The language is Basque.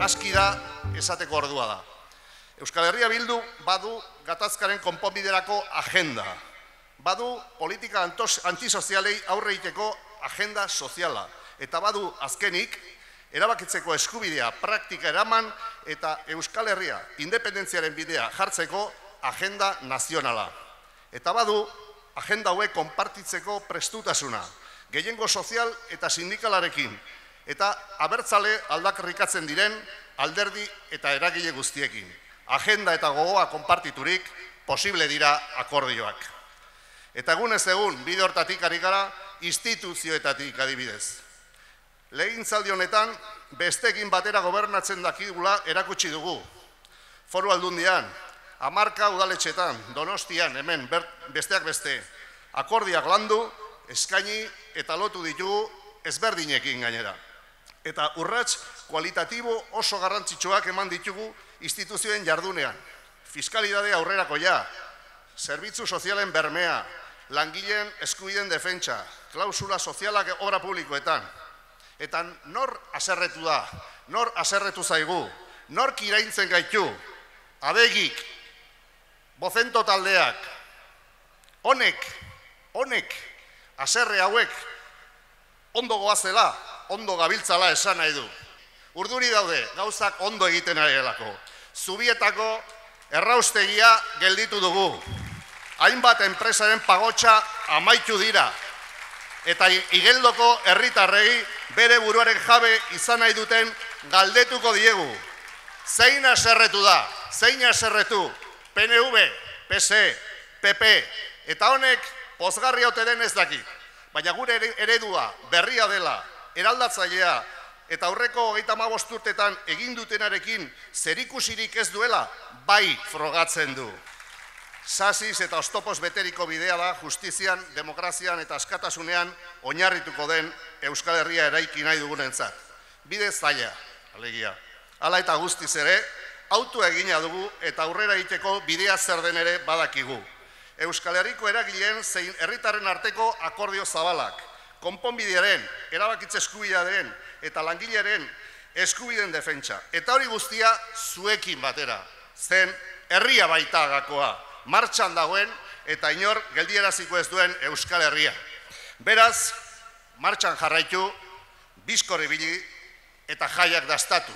aski da esateko ordua da. Euskal Herria Bildu badu gatazkaren konponbiderako agenda. Badu politika antisozialei aurre egiteko agenda soziala. Eta badu azkenik, erabakitzeko eskubidea praktika eraman eta Euskal Herria independentziaren bidea jartzeko agenda nazionala. Eta badu agenda hauek konpartitzeko prestutasuna, gehiengo sozial eta sindikalarekin, eta abertzale aldarrikatzen diren alderdi eta eragile guztiekin. Agenda eta gogoa konpartiturik posible dira akordioak. Eta egunez egun, bide hortatik ari gara, instituzioetatik adibidez. Legegintzaldi honetan, besteekin batera gobernatzen dakigula erakutsi dugu. Foru Aldundian, 10 udaletxetan, Donostian, hemen, besteak beste, akordiak landu, eskaini eta lotu ditugu ezberdinekin gainera. Eta urrats kualitatibo oso garrantzitsuak eman ditugu instituzioen jardunean. Fiskalidade aurrerakoia, zerbitzu sozialen bermea, langileen eskubideen defentsa, klausula sozialak obra publikoetan. Eta nor haserretu da, nor haserretu zaigu, nor iraintzen gaitu, Adegik, Bozento taldeak, honek, haserre hauek, ondo goazela, ondo gabiltzala esan nahi du. Urduri daude, gauzak ondo egiten ari delako. Zubietako erraustegia gelditu dugu. Hainbat enpresaren pagotxa amaitu dira. Eta Igeldoko herritarrei bere buruaren jabe izan nahi duten galdetuko diegu. Zein haserretu da, zein haserretu, PNV, PS, PP, eta honek pozgarri ote den ez daki. Baina gure eredua berria dela, eraldatzailea, eta aurreko 35 urtetan egin dutenarekin zerikusirik ez duela, bai frogatzen du. Sasiz eta oztopoz beteriko bidea da justizian, demokrazian eta askatasunean oinarrituko den Euskal Herria eraiki nahi dugunentzat. Bide zaila, alegia. Hala eta guztiz ere, autua egina dugu eta aurrera egiteko bidea zer den ere badakigu. Euskal Herriko eragileen zein herritarren arteko akordio zabalak, konponbidearen, erabakitze eskubidearen eta langilearen eskubideen defentsa. Eta hori guztia zuekin batera, zen herria baita gakoa, martxan dagoen eta inor geldieraziko ez duen Euskal Herria. Beraz, martxan jarraitu, bizkor ibili eta jaiak dastatu.